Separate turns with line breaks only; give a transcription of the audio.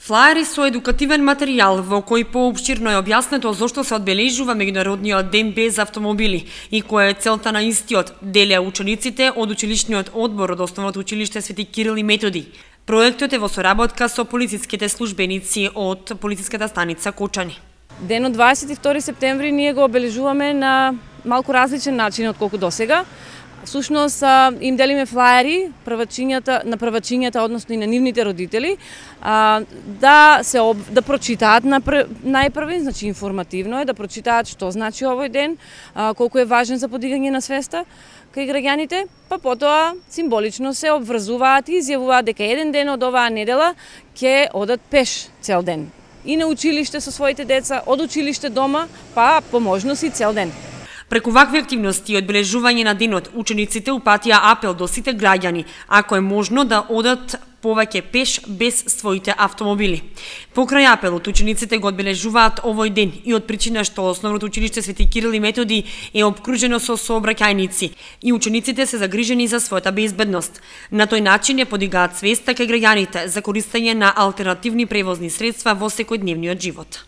Флаери со едукативен материјал во кој поопштирно е објаснето зошто се одбележува меѓународниот ден без автомобили и која е целта на истиот, делеа учениците од училишниот одбор од Основното училиште Свети Кирил и Методи. Проектот е во соработка со полициските службеници од полициската станица Кочани.
Денот 22 септември ние го обележуваме на малку различен начин отколку досега. Всушност им делиме флаери на првачињата, односно и на нивните родители, да прочитаат најпрви, значи информативно е да прочитаат што значи овој ден, колку е важен за подигање на свеста кај граѓаните, па потоа символично се обврзуваат и изјавуваат дека еден ден од оваа недела ќе одат пеш цел ден. И на училиште со своите деца, од училиште дома, па по можност и цел ден.
Преку вакви активности и одбележување на денот, учениците упатија апел до сите граѓани, ако е можно да одат повеќе пеш без своите автомобили. Покрај апелот, учениците го одбележуваат овој ден и од причина што Основното училиште Свети Кирил и Методи е опкружено со сообраќајници и учениците се загрижени за својата безбедност. На тој начин ја подигаат свеста кај граѓаните за користење на алтернативни превозни средства во секојдневниот живот.